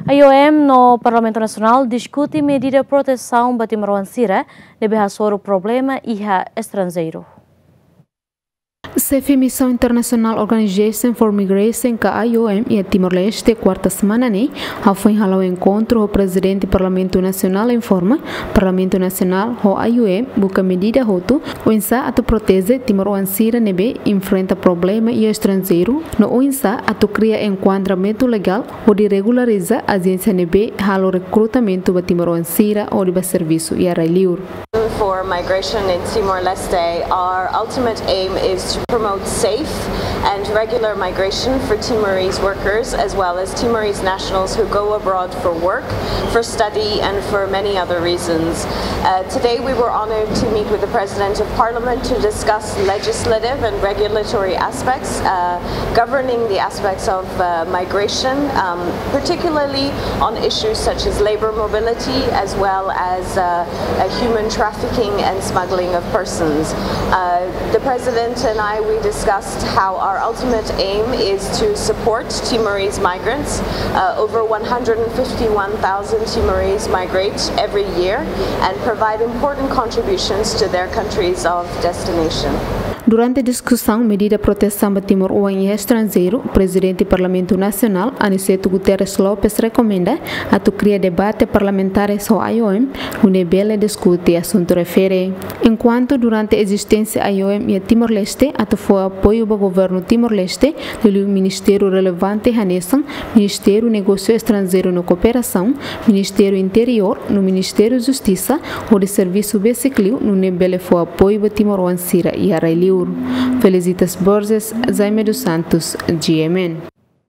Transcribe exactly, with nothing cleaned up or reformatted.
I O M no Parlamentu Nasionál diskute medida protesaun ba timoroan sira ne'ebé hasoru problema iha estranjeiru. Xefe Misaun International Organization for Migration ka I O M iha Timor-Leste, kuarta semana ne'e, hafoin hala'o enkontru ho Prezidente Parlamentu Nasionál informa, Parlamentu Nasionál ho I O M buka medida hotu oinsá atu proteje timoroan sira ne'ebé enfrenta problema iha estranjeiru, no oinsá atu kria enkuadramentu legál hodi regulariza ajénsia ne'ebé halo rekrutamentu ba timoroan sira hodi bá servisu iha rai-liur. For migration in Timor-Leste, our ultimate aim is to promote safe and regular migration for Timorese workers as well as Timorese nationals who go abroad for work, for study, and for many other reasons. Uh, today, we were honored to meet with the President of Parliament to discuss legislative and regulatory aspects uh, governing the aspects of uh, migration, um, particularly on issues such as labor mobility as well as uh, uh, human trafficking and smuggling of persons. Uh, the President and I, we discussed how our ultimate aim is to support Timorese migrants. Uh, over one hundred fifty-one thousand Timorese migrate every year and provide important contributions to their countries of destination. Durante diskusaun medida protesaun ba timoroan iha estranjeiru, Prezidente Parlamentu Nasionál, Aniceto Guterres Lopes, rekomenda atu kria debate parlamentares ho I O M, nune'e bele diskute asuntu refere. Enkuantu durante ezisténsia I O M iha Timor-Leste, atu fó apoiu ba governu Timor-Leste, liuliu ministériu relevante hanesan Ministériu Negósiu Estranjeiru no Kooperasaun, Ministériu Interiór no Ministériu Justisa, hodi servisu besik liu nune'e bele fó apoiu ba timoroan sira iha rai-liur. Felicitas Borges, Jaime dos Santos, G M N.